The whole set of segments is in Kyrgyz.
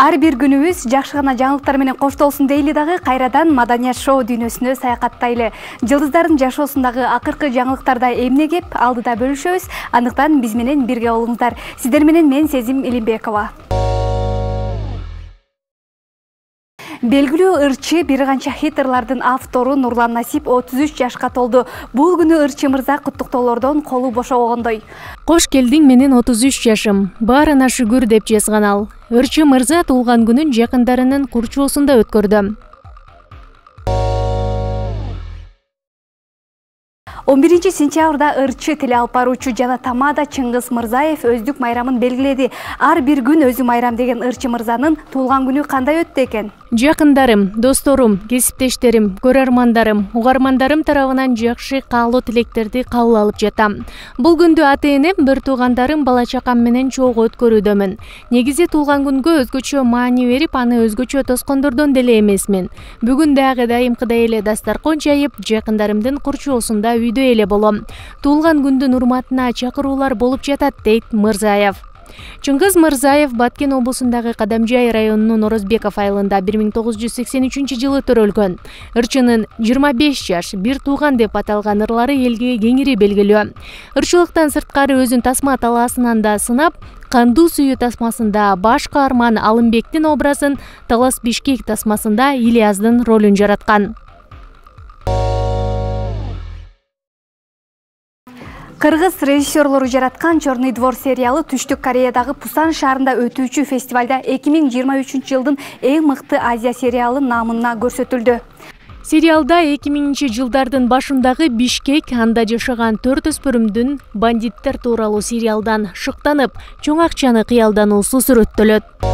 Ар бир күнүбүз жакшы гана жаңылыктар менен коштолсун дейли дагы кайрадан маданият шоу дүйнөсүнө саякаттайлы. Жылдыздардын жашоосундагы акыркы жаңылыктарда эмне кеп алдыда бөлүшөбүз. Андыктан биз менен бирге болуңуздар. Сиздер менен мен Сезим Илимбекова. Белгилүү ырчы бир канча хит ырлардын автору Нурлан Насип 33 жашка толду. Бул күнү ырчы мырза куттуктоолордон колу бошобогондой. Кош келдиң, менин 33 жашым. Баарына шүгүр деп жазган ал. Ырчы мырза туулган күнүн жакындарынын курчоосунда өткөрдү. 11 сентябрда ырчы тил алып баруучу жана тамада Чыңгыз Мырзаев өздүк майрамын белгиледи. Ар бир күн өзү майрам деген ырчы мырзанын туулган күнү кандай өттү экен? Жакындарым, досторум, кесиптештерим, көрөрмандарым, угармандарым тарабынан жакшы каалоо тилектерди кабыл алып жатам. Бул күндү ата-энем, бир туугандарым, бала чакам менен чогуу өткөрүүдөмүн. Негизи туулган күнгө өзгөчө маани берип, аны өзгөчө тоскондордон деле эмесмин. Бүгүн дагы дайымкыдай эле дастаркан жайып, жакындарымдын курчоосунда үйдө эле болом. Туулган күндүн урматына чакыруулар болуп жатат, дейт Мырзаев. Чыңгыз Мырзаев Баткен облусундагы Кадамжай районунун Орозбеков айылында 1983-жылы төрөлгөн. Ырчынын 25 жаш, бир тууган деп аталган ырлары элге кеңири белгилүү. Ырчылыктан сырткары өзүн тасма талаасынан да сынап, Кандуу сүйүү тасмасында баш каарман Алымбектин образын, Талас Бишкек тасмасында Ильяздын ролун жараткан. Кыргыз режиссерлору жараткан «Черный двор» сериалы Түштүк Кореядагы Пусан шаарында өтүүчү фестивалда 2023-жылдын эң мыкты Азия сериалы наамына көрсөтүлдү. Сериалда 2000-жылдардын башындагы Бишкек, анда жашаган 4 өспүрүмдүн бандиттер тууралуу сериалдан шыктанып, чоң акчаны кыялдануусу сүрөттөлөт.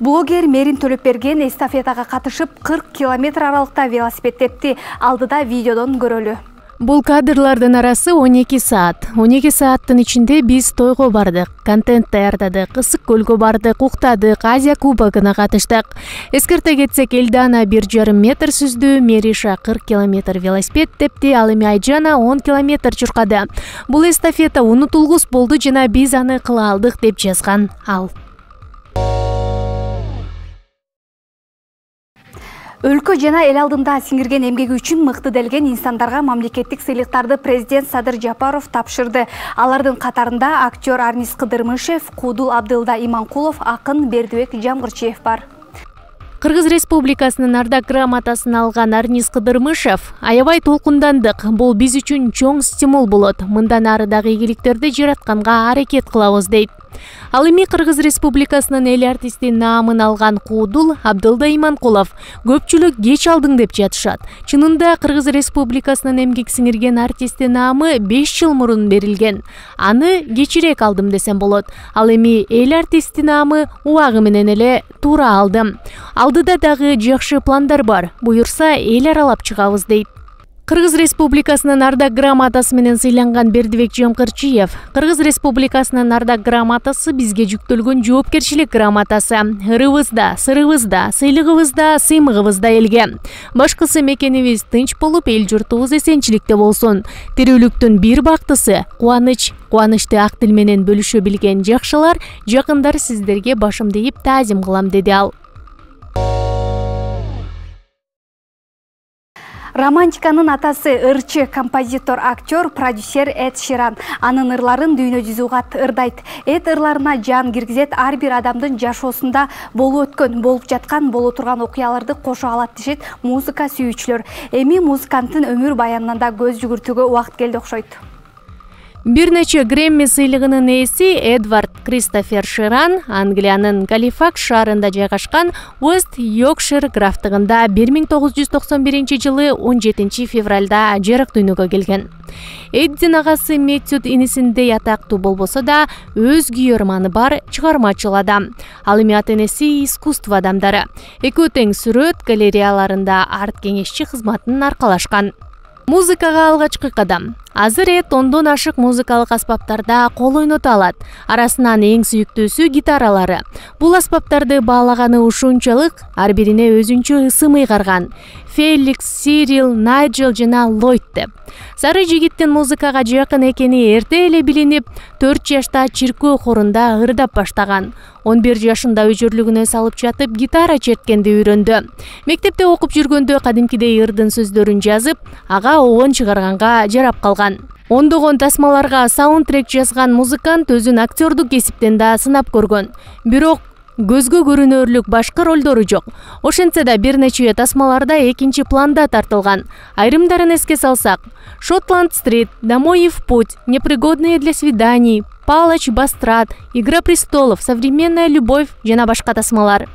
Блогер Мерин Төлөпберген эстафетага катышып 40 километр аралыкта велосипед тепти. Алдыда видеодон көрөлү. Бул кадрлардын арасы 12 саат. 12 сааттын ичинде биз тойго бардык, контент даярдадык, Ысык көлгө бардык, уктадык, Азия кубогуна катыштык. Эскерте кетсек, Элдана 1,5 метр сүздү, Мериша 40 километр велосипед тепти, ал эми Айжана 10 километр чуркады. Бул эстафета унутулгус болду жана биз аны кыла алдык, деп жазган ал. Өлкө жана эл алдында сиңирген эмгеги үчүн мыкты делген инсандарга мамлекеттик сыйлыктарды президент Садыр Жапаров тапшырды. Алардын катарында актер Арнис Кыдырмышев, Куудул Абдылда Иманкулов, акын Бердибек Жамгырчиев бар. Кыргыз Республикасынын ардак грамотасын алган Арнис Кыдырмышев: аябай толкундандык, бул биз үчүн чоң стимул болот. Мындан ары дагы ийгиликтерди жаратканга аракет кылабыз, дейт. Ал эми Кыргыз Республикасынын эл артисти наамын алган Куудул Абдылда Иманкулов: көпчүлүк кеч алдың деп жатышат. Чынында Кыргыз Республикасынын эмгек сиңирген артисти наамы 5 жыл мурун берилген. Аны кечирээк алдым десем болот. Ал эми эл артисти наамы убагы менен эле туура алдым. Алдыда дагы жакшы пландар бар. Буюрса эл аралап чыгабыз, дейт. Кыргыз Республикасынын ардак грамотасы менен сыйланган Бердибек Жамгырчиев: Кыргыз Республикасынын ардак грамотасы бизге жүктөлгөн жоопкерчилик грамотасы. Ырыбызда, сырыбызда, сыйлыгыбызда, сыймыгыбызда элге. Башкысы мекенибиз тынч болуп, эл журтубуз эсенчиликте болсун. Тирүүлүктүн бир бактысы кубаныч. Кубанычты ак тил менен бөлүшө билген жакшылар, жакындар сиздерге башымды ийип таазим кылам, деди ал. Романтиканын атасы ырчы, композитор, актер, продюсер Эд Ширан. Анын ырларын дүйнө жүзү угат, ырдайт. Эд ырларына жан киргизет, ар бир адамдын жашоосунда болуп өткөн, болуп жаткан, боло турган окуяларды кошо алат, дешет музыка сүйүүчүлөр. Эми музыканттын өмүр баянынан да көз жүгүртүүгө убакыт келди окшойт. Бир нече Грэмми сыйлыгынын ээси Эдвард Кристофер Ширан Англиянын Галифакс шаарында жайгашкан Уэст Йоркшир графтыгында 1991 17 февралда жарык дүйнөгө келген. Эддин агасы Мэтью инисиндей атактуу болбосо да, өз күйөрманы бар чыгармачыл адам. Ал эми ата-энеси искусство адамдары. Экөө тең сүрөт галереяларында арт кеңешчи кызматын аркалашкан. Музыкага алгачкы кадам. Азыр Эд 10дон ашык музыкалык аспаптарда кол ойното алат. Арасынан эң сүйүктүүсү гитаралары. Бул аспаптарды баалаганы ушунчалык ар бирине өзүнчө ысым ыйгарган. Феликс, Сирил, Найджел жана Ллойд деп. Сары жигиттин музыкага жакын экени эрте эле билинип, 4 жашта чиркөө хорунда ырдап баштаган. 11 жашында өжөрлүгүнө салып жатып гитара черткенди үйрөндү. Мектепте окуп жүргөндө кадимкидей ырдын сөздөрүн жазып, ага оон чыгарганга жарап калган. Ондогон тасмаларга саундтрек жазган музыкант өзүн актёрдук кесиптен да сынап көргөн. Бирок көзгө көрүнөрлүк башкы ролдору жок. Ошентсе да бир нече тасмаларда экинчи планда тартылган. Айрымдарын эске салсак: Шотланд-стрит, Домой и в путь, Непригодные для свиданий, Палач, Бастрат, Игра престолов, Современная любовь жана башка тасмалар.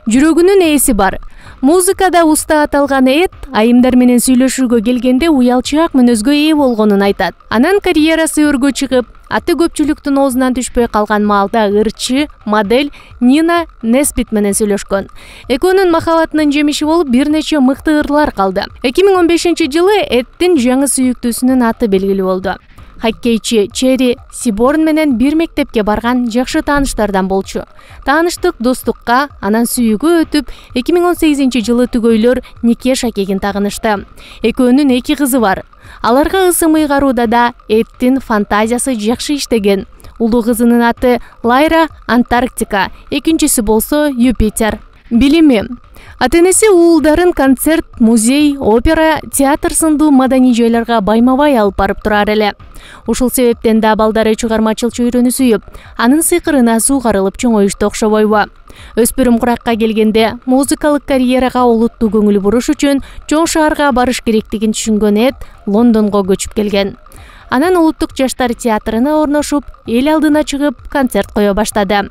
Жүрөгүнүн ээси бар. Музыкада уста аталган Эд айымдар менен сүйлөшүүгө келгенде уялчаак мүнөзгө ээ болгонун айтат. Анан карьерасы өргө чыгып, аты көпчүлүктүн оозунан түшпөй калган маалда ырчы, модель Нина Несбит менен сүйлөшкөн. Экөөнүн махабатынын жемиши болуп бир нече мыкты ырлар калды. 2015-жылы Эддин жаңы сүйүктүүсүнүн аты белгилүү болду. Хоккейчи Черри Сиборн менен бир мектепке барган жакшы тааныштардан болчу. Тааныштык достукка, анан сүйүүгө өтүп, 2018-жылы түгөйлөр нике шакегин тагынышты. Экөөнүн 2 кызы бар. Аларга ысым ыйгарууда да Эддин фантазиясы жакшы иштеген. Улуу кызынын аты Лайра Антарктика, экинчиси болсо Юпитер. Билими. Ата-энеси уулдарын концерт, музей, опера, театр сындуу маданий жайларга байма-бай алып барып турар эле. Ушул себептен да балдары чыгармачыл чөйрөнү сүйүп, анын сыйкырына суугарылып чоңоюшту окшобойбу. Өспүрүм куракка келгенде музыкалык карьерага олуттуу көңүл буруш үчүн чоң шаарга барыш керектигин түшүнгөн Эд Лондонго көчүп келген. Анан улуттук жаштар театрына орношуп, эл алдына чыгып концерт кое баштады.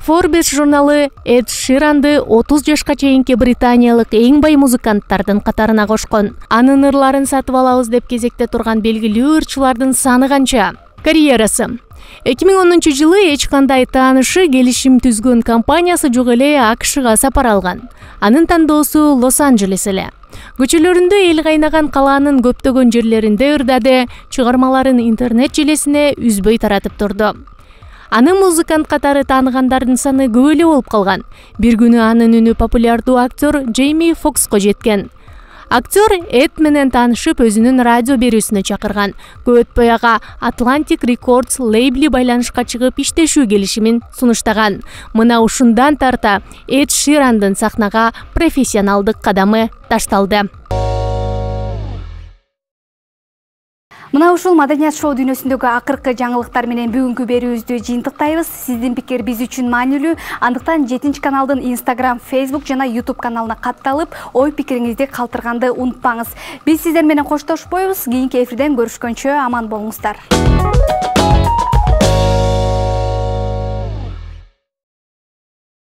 Forbes журналы Эд Ширанды 30 жашка чейинки британиялык эң бай музыканттардын катарына кошкон. Анын ырларын сатып алабыз деп кезекте турган белгилүү ырчылардын саны канча? Карьерасы. 2010-жылы эч кандай таанышы, келишим түзгөн компаниясы жок эле АКШга сапар алган. Анын тандоосу Лос-Анджелес эле. Көчөлөрүндө эл кайнаган калаанын көптөгөн жерлеринде ырдады, чыгармаларын интернет желесине үзбөй таратып турду. Аны музыкант катары тааныгандардын саны көп эле болуп калган. Бир күнү анын үнү популярдуу актер Джейми Фокско жеткен. Актер Эд менен таанышып, өзүнүн радио берүүсүнө чакырган. Көп өтпөй ага Atlantic Records лейбли байланышка чыгып иштешүү келишимин сунуштаган. Мына ушундан тарта Эд Ширандын сахнага профессионалдык кадамы ташталды. Мына ушул маданият шоу дүйнөсүндөгү акыркы жаңылыктар менен бүгүнкү берүүбүздү жыйынтыктайбыз. Сиздин пикир биз үчүн маанилүү. Андыктан 7 каналдын Instagram, Facebook жана YouTube каналына катталып, ой пикириңизди калтырганды унутпаңыз. Биз сиздер менен коштошпойбуз. Кийинки эфирден көрүшкөнчө аман болуңуздар.